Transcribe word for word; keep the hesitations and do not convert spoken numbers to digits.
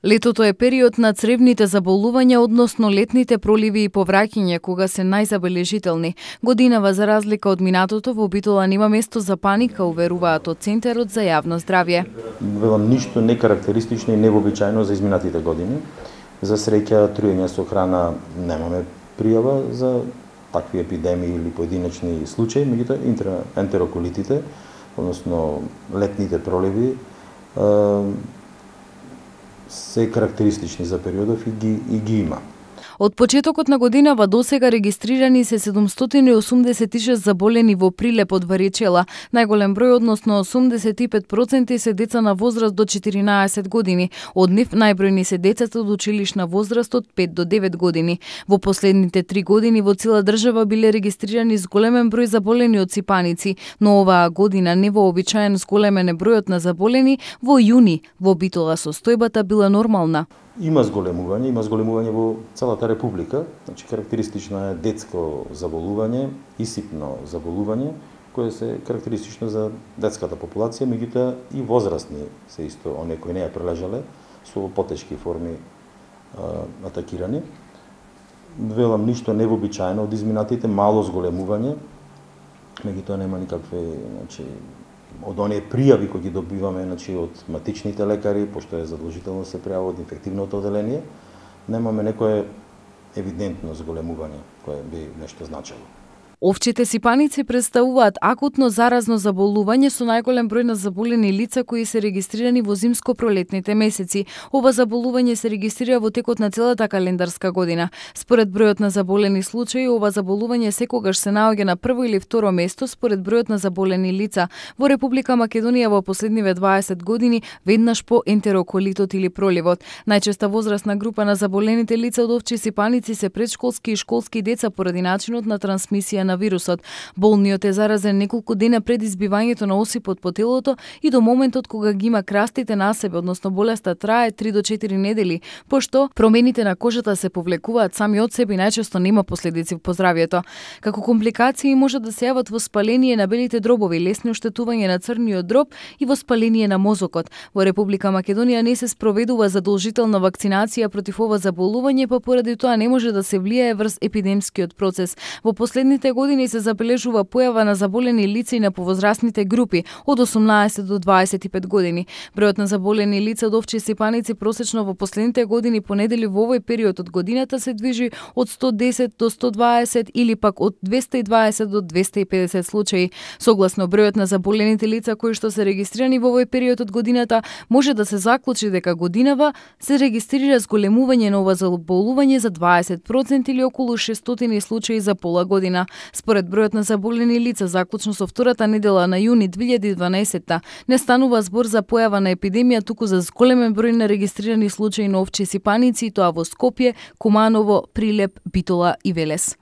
Летото е период на цревните заболувања, односно летните проливи и повраќање, кога се најзабележителни. Годинава, за разлика од минатото, во Битола нема место за паника, уверуваат од Центарот за јавно здравје. Велам, ништо не карактеристично и невообичаено за изминатите години. За среќа, труење со храна немаме пријава за такви епидемии или поединечни случаи, меѓутоа ентероколитите, односно летните проливи, се карактеристични за периодов и ги, и ги има. Од почетокот на годинава досега регистрирани се седумстотини и осумдесет и шест заболени во прилеп од варичела. Најголем број, односно осумдесет и пет проценти, се деца на возраст до четиринаесет години. Од нив најбројни се децата од училишна возраст од пет до девет години. Во последните три години во цела држава биле регистрирани зголемен број заболени од сипаници, но оваа година невообичаен зголемен е бројот на заболени. Во јуни во Битола состојбата била нормална. Има зголемување, има зголемување во целата република, значи карактеристично е детско заболување, исипно заболување, кое се карактеристично за детската популација, меѓутоа и возрастни се исто, оние кои не ја прележале, со потешки форми а, атакирани. Велам, ништо невообичаено од изминатите, мало зголемување, меѓутоа нема никакви, значи, од оние пријави кои ги добиваме, значи, од матичните лекари, пошто е задолжително се пријава од инфективното оделение, немаме некое евидентно зголемување кое би нешто значело. Овчите сипаници представуваат акутно заразно заболување со најголем број на заболени лица кои се регистрирани во зимско-пролетните месеци. Ова заболување се регистрира во текот на целата календарска година. Според бројот на заболени случаи, ова заболување секогаш се наоѓа на прво или второ место според бројот на заболени лица. Во Република Македонија во последниве дваесет години веднаш по ентероколитот или проливот. Најчеста возрастна група на заболените лица од овчи сипаници се предшколски и школски деца поради начинот на трансмисија на вирусот. Болниот е заразен неколку дена пред избивањето на осипот по телото и до моментот кога ги има крастите на себе, односно болеста трае три до четири недели, пошто промените на кожата се повлекуваат сами од себе и најчесто нема последици по здравјето. Како компликации може да се јават воспаление на белите дробови, лесни оштетување на црниот дроб и воспаление на мозокот. Во Република Македонија не се спроведува задолжителна вакцинација против ова заболување, па поради тоа не може да се влијае врз епидемскиот процес. Во последните години се забележува појава на заболени лица и на повозрастните групи од осумнаесет до дваесет и пет години. Бројот на заболени лица од овчи сипаници просечно во последните години по недели во овој период од годината се движи од сто десет до сто дваесет или пак од двесте и дваесет до двесте и педесет случаи. Согласно бројот на заболените лица кои што се регистрирани во овој период од годината, може да се заклучи дека годинава се регистрира зголемување на ова заболување за дваесет проценти или околу шестстотини случаи за пола година. Според бројот на заболени лица, заклучно со втората недела на јуни две илјади и дванаесетта, не станува збор за појава на епидемија, туку за зголемен број на регистрирани случаи на овчи сипаници, тоа во Скопје, Куманово, Прилеп, Битола и Велес.